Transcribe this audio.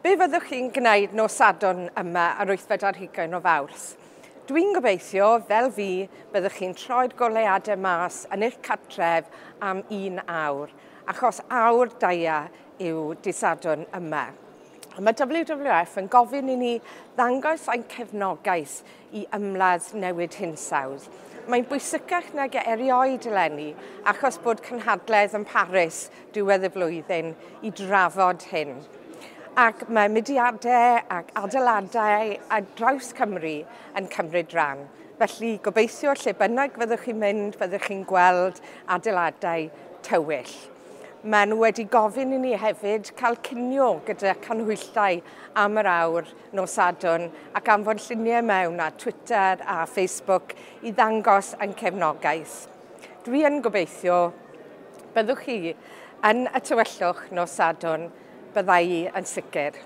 Be fyddwch chi'n gwneud nos Sadwrn yma ar wythfed ar hugain o Fawrth? Dwi'n gobeithio, fel fi, byddwch chi'n troi'r goleuadau mas yn eich cartref am un awr, achos awr daia yw dydd Sadwrn yma. A mae WWF yn gofyn i ni ddangos ein cefnogaeth i ymladd newid hinsawdd. Mae'n bwysicach nag erioed eleni achos bod cynhadledd yn Paris diwedd y flwyddyn i drafod hyn. Ac mae mudiadau ac adeiladau ar draws Cymru yn cymryd rhan. Felly gobeithio lle bynnag fyddwch chi'n mynd, fyddwch chi'n gweld adeiladau tywyll. Maen nhw wedi gofyn i ni hefyd cael cinio gyda canhwyllau am yr awr nos Sadwrn ac anfon lluniau mewn ar Twitter a Facebook i ddangos ein cefnogaeth. Dwi yn gobeithio byddwch chi yn y tywyllwch nos Sadwrn, bydda i yn sicr.